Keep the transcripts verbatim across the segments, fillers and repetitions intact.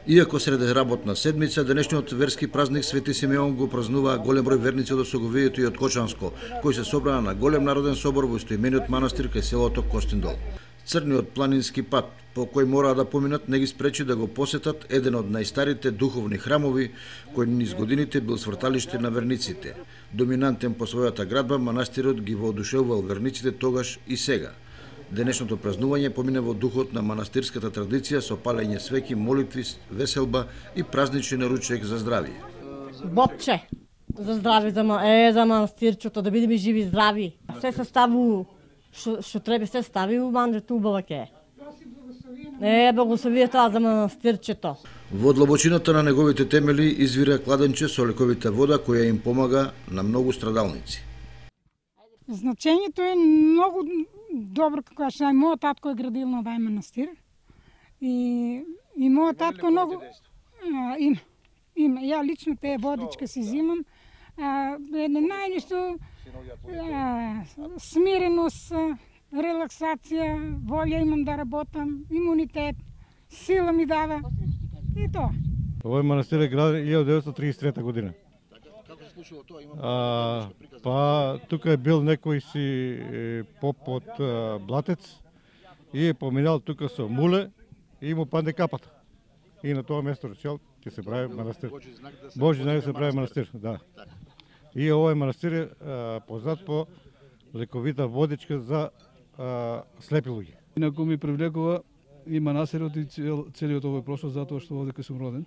Иако среде работна седмица, денешниот верски празник Свети Симеон го празнува голем број верници од Осоговието и од Кочанско, кои се собраа на голем народен собор во истоимениот манастир кај селото Костиндол. Црниот планински пат, по кој мораа да поминат, не ги спречи да го посетат еден од најстарите духовни храмови, кој низ годините бил сврталиште на верниците. Доминантен по својата градба, манастирот ги воодушевувал верниците тогаш и сега. Денешното празнување помине во духот на манастирската традиција со палење свеќи, молитви, веселба и празничен ручек за здравје. Бобче, за здравје, за, е, за манастирчето, да бидеме живи здрави. Се се ставу, што треба се стави у манџето убава ке. Е, благословието за манастирчето. Во длабочината на неговите темели извира кладенче со лековита вода која им помага на многу страдалници. Значењето е многу добро, како што е мојот татко е градил на овај манастир. И и мојот татко многу а, има има ја лично тие водичка си зимам. А, е најнешто смиреност, релаксација, волја имам да работам, имунитет, сила ми дава. И тоа. Овој манастир е граден илјада деветстотини триесет и трета година. Како се случило тоа? А, па тука е бил некој си поп од Блатец и е поминал тука со муле и му падне капата. И на тоа место речел ќе се прави манастир. Божи знак да се прави манастир, да. И овој манастир е а, познат по лековита водичка за а, слепи луѓе. Инаку ми привлекува и манастирот и цел, целиот овој простор затоа што овде сум роден.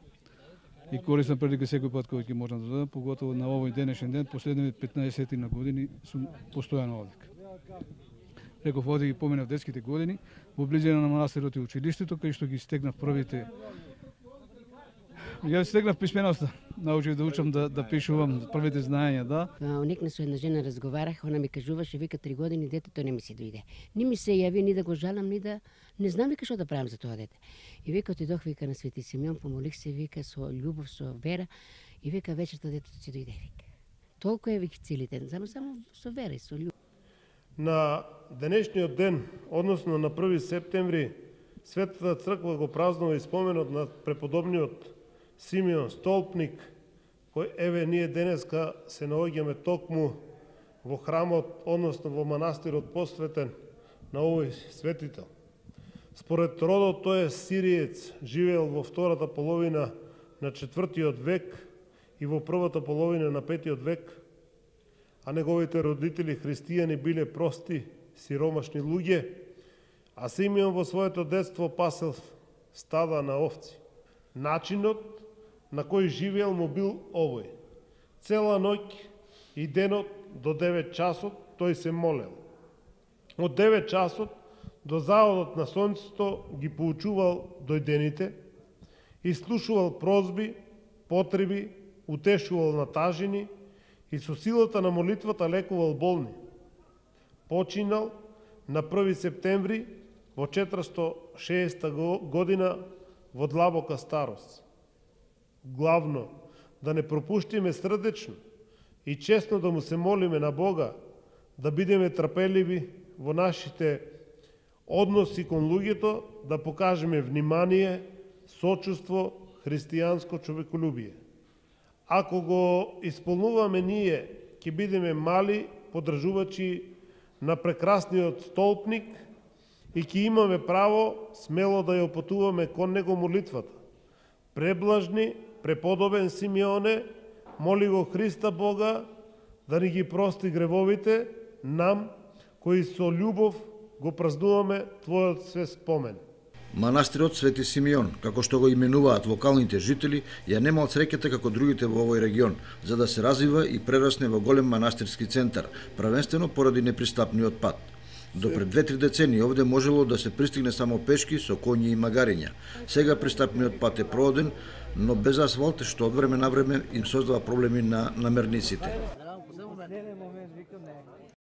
И користам прилика секој пат кога ќе можам да додам, поготово на овој денешен ден, последните петнаесет на години сум постојано овде. Реков овде ги поминав детските години, во близина на манастирот и училиштето, кај што ги стегнав првите. Ја стегнав писменоста, научив да учам да, да пишувам првите знаења, да. Некна со една жена разговарах, она ми кажуваше, вика три години детето не ми се дојде. Ни ми се јави, ни да го жалам, ни да не знам вика што да правам за тоа дете. И вика отидох вика на Свети Симеон, помолих се вика со љубов, со вера и вика вечерта детето ќе дојде вика. Толку е вика целите ден, само само со вера и со љубов. На денешниот ден, односно на први септември, Светата црква го празнува и споменот на преподобниот Симеон Столпник, кој еве ние денеска се наоѓаме токму во храмот, односно во манастирот посветен на овој светител. Според родот тој е сириец, живеел во втората половина на четвртиот век и во првата половина на петиот век, а неговите родители христијани биле прости, сиромашни луѓе, а Симеон во своето детство пасел стада на овци. Начинот на кој живеел му бил овој. Цела ноќ и денот до девет часот тој се молел. Од девет часот до заодот на сонцето ги поучувал дојдените и слушувал прозби, потреби, утешувал натажени и со силата на молитвата лекувал болни. Починал на први септември во четиристотини и шесета година во длабока старост. Главно, да не пропуштиме срдечно и честно да му се молиме на Бога, да бидеме трпеливи во нашите односи кон луѓето, да покажеме внимание, сочувство, христијанско човеколюбие. Ако го исполнуваме ние, ќе бидеме мали подржувачи на прекрасниот столпник и ќе имаме право смело да ја опатуваме кон него молитвата. Преблажни, преподобен Симеоне, моли го Христа Бога да ни ги прости гревовите, нам, кои со љубов го празнуваме Твојот свет спомен. Манастирот Свети Симеон, како што го именуваат локалните жители, ја немал среќата како другите во овој регион, за да се развива и прерасне во голем манастирски центар, правенствено поради непристапниот пат. До пред две-три децении овде можело да се пристигне само пешки со коњи и магариња. Сега пристапниот пат е прооден, но без асфалт, што од време на време им создава проблеми на намерниците.